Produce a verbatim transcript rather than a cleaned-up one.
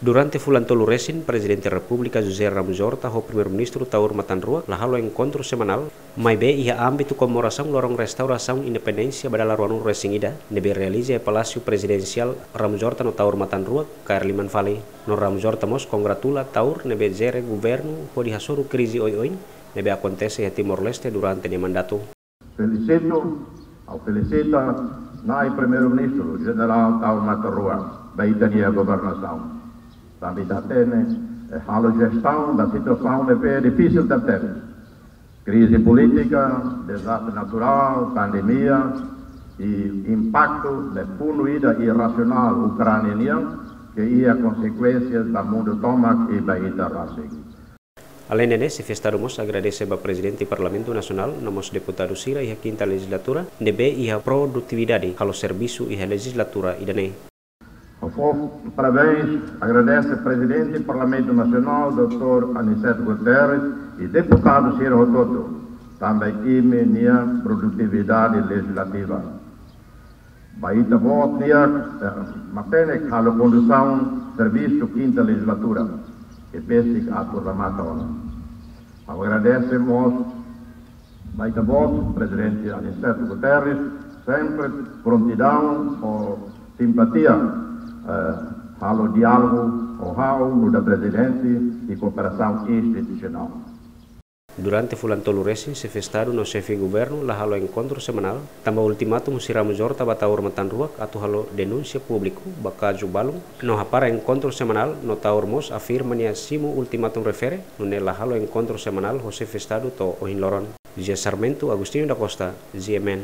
Durante fulan tolu resin, Prezidente Repúblika José Ramos Horta ho Primeiru-Ministru Taur Matan Ruak la halo enkontru semanál, maibé iha ámbitu komemorasaun loron restaurasaun independénsia ba dala ruanulu resin ida, ne'ebé realiza iha Palásiu Prezidensiál Ramos Horta no Taur Matan Ruak, kaer liman fali. No Ramos Horta mós kongratula Taur ne'ebé jere governu hodi hasoru krize oioin ne'ebé akontese iha Timor-Leste durante nia mandatu. Felisitu, ha'u felisita Na'i Primeiru-Ministru Jenerál Taur Matan Ruak ba ita-nia governasaun. Tanba ita hatene, eh, halo jestaun ba situasaun ne'ebé difisil tebes. Krize polítika, dezastre naturál, pandemia, i impaktu ne'e funu ida irrasionál Ukránia nian, ke iha konsekuénsias ba mundu tomak i ba ita rasik. Aleinde ne'e, Xefe Estadu mós agradese ba Prezidente Parlamentu Nasionál, no mós deputadu sira iha kinta lejizlatura, ne'ebé iha produtividade halo servisu iha lejizlatura ida-ne'e. Ha'u fó parabéns, agradese Prezidente Parlamentu Nasionál, doutór Aniceto Guterres, i deputadu sira hotu-hotu, tanba imi-nia produtividade lejizlativa. Ba ita-boot nian, eh, matenek halo kondusaun servisu kinta lejizlatura, ke besik atu remata ona. Ha'u agradese mós ba ita-boot, Prezidente Aniceto Guterres, sempre prontidaun ho simpatia, eh, halo diálogu ho ha'u nu'udar Prezidente i kooperasaun institusionál. Durante fulan tolu resin, Xefe Estadu no Xefe Governu la halo enkontru semanál, tanba ultimatum husi Ramos Horta ba Taur Matan Ruak atu halo denúnsia públiku ba kazu balun, no hapara enkontru semanál, no Taur mós afirma nia simu ultimatum refere, nune'e la halo enkontru semanál ho Xefe Estadu to'o ohin loron. José Sarmento, Agostinho da Costa, G M N.